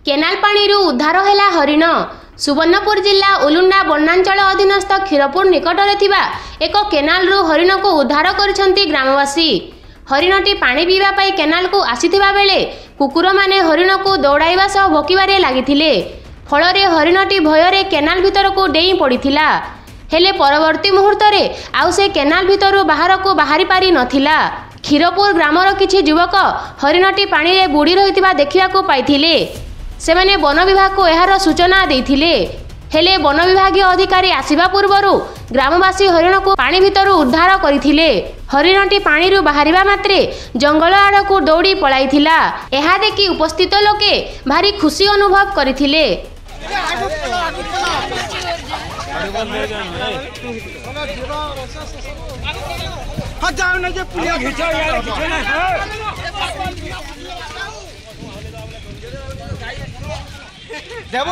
Canal ପାଣିରୁ ଉଦ୍ଧାର ହେଲା ହରିଣ। ସୁବର୍ଣ୍ଣପୁର ଜିଲ୍ଲା ଉଲୁଣ୍ଡା ବନାଞ୍ଚଳ ଅଧୀନସ୍ଥ କ୍ଷୀରପୁର ନିକଟରେ ଥିବା ଏକ କେନାଲରୁ ହରିଣକୁ ଉଦ୍ଧାର କରିଛନ୍ତି ଗ୍ରାମବାସୀ। ହରିଣଟି ପାଣି ପିଇବା ପାଇଁ କେନାଲକୁ ଆସିଥିବା ବେଳେ କୁକୁରମାନେ ହରିଣକୁ ଦୌଡ଼ାଇବା ସହ ଭୋକିବାରେ ଲାଗିଥିଲେ। ଫଳରେ ହରିଣଟି ଭୟରେ କେନାଲ ଭିତରକୁ ଡେଇଁ ପଡ଼ିଥିଲା। ହେଲେ ପରବର୍ତ୍ତୀ ମୁହୂର୍ତ୍ତରେ ଆଉ ସେ କେନାଲ ଭିତରୁ ବାହାରକୁ ବାହାରି ପାରି ନଥିଲା। କ୍ଷୀରପୁର ଗ୍ରାମର କିଛି ଯୁବକ ହରିଣଟି ପାଣିରେ ବୁଡ଼ି ରହିଥିବା ଦେଖିବାକୁ ପାଇଥିଲେ। ସେମାନେ ବନ ବିଭାଗକୁ ଏହାର ସୂଚନା ଦେଇଥିଲେ। ହେଲେ ବନ ବିଭାଗୀୟ ଅଧିକାରୀ ଆସିବା ପୂର୍ବରୁ ଗ୍ରାମବାସୀ ହରିଣକୁ ପାଣି ଭିତରୁ ଉଦ୍ଧାର କରିଥିଲେ। ହରିଣଟି ପାଣିରୁ ବାହାରିବା ମାତ୍ରେ ଜଙ୍ଗଲ ଆଡ଼କୁ ଦୌଡ଼ି ପଳାଇଥିଲା। ଏହା ଦେଖି ଉପସ୍ଥିତ ଲୋକେ ଭାରି ଖୁସି ଅନୁଭବ କରିଥିଲେ। ଦେବ।